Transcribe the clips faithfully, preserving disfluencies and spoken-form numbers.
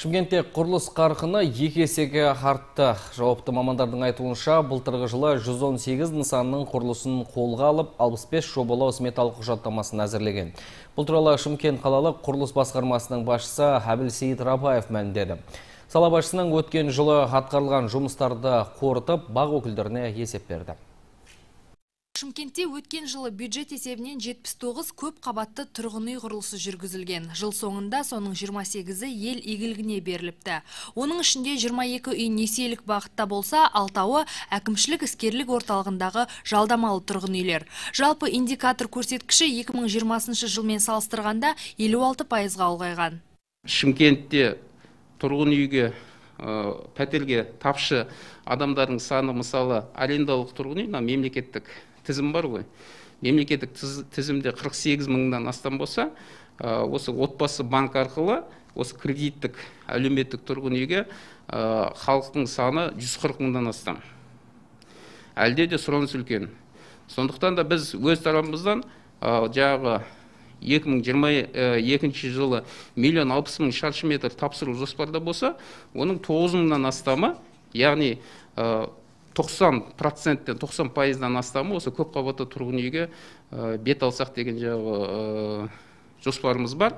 Шымкентте құрылыс қарқыны екі есеге артты. Жауапты мамандардың айтуынша, былтырғы жылы жүз он сегіз нысанның құрылысын қолға алып, алпыс бес жобалау сметалық құжаттамасын әзірлеген. Бұл туралы Шымкент қалалық құрылыс басқармасының басшысы Әбілсейіт Рабаев мәлімдеді. Сала басшысының өткен жылы атқарылған жұмыстарды қорытып, бақ өкілдеріне есеп берді. Шымкентте өткен жылы бюджет есебінен жетпіс тоғыз көп қабатты тұрғын үй құрылысы жүргізілген. Жыл соңында соның жиырма сегізі ел игілігіне беріліпті. Оның ішінде жиырма екі үй несиелік бағытта болса, алтауы әкімшілік іскерлік орталығындағы жалдамалы тұрғын үйлер. Жалпы индикатор көрсеткіші екі мың жиырмасыншы жылмен салыстырғанда елу алты пайызға ұлғайған. Шымкентте тұрғын үйге пәтерге тапшы адамдардың саны, мысалы, арендалық тұрғын үй мемлекеттік тізім бар ғой. Мемлекеттік тізімде қырық сегіз мыңнан астам болса, осы отбасы банк арқылы осы кредиттік әлеуметтік тұрғын үйге халықтың саны жүз қырық мыңнан астам. Әлде де сұраныс үлкен. Сондықтан да біз өз тарапымыздан жағы екі мың жиырма екінші жылы миллион алпыс мың шаршы метр тапсыру жоспарда болса, оның тоғыз мыңнан астамы, яғни тоқсан проценттен тоқсан пайыздан астамы осы көп қабатты тұрғын үйге бет алсақ деген жағы жоспарымыз бар.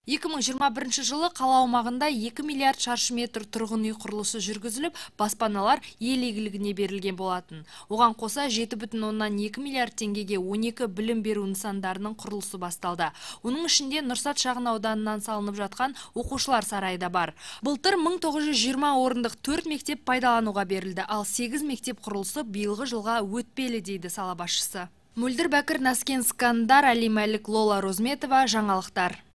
екі мың жиырма бірінші жылы қала аумағында екі миллиард шаршы метр тұрғын үй құрылысы жүргізіліп, баспаналар ел игілігіне берілген болатын. Оған қоса жеті бүтін оннан екі миллиард теңгеге он екі білім беру нысандарының құрылысы басталды. Оның ішінде Нұрсат шағын ауданынан салынып жатқан оқушылар сарайы да бар. Былтыр мың тоғыз жүз жиырма орындық төрт мектеп пайдалануға берілді, ал сегіз мектеп құрылысы биылғы жылға өтпелі дейді сала басшысы. Мөлдір Бәкір, Наскен Скандар, Али Мәлік, Лола Розметова, жаңалықтар.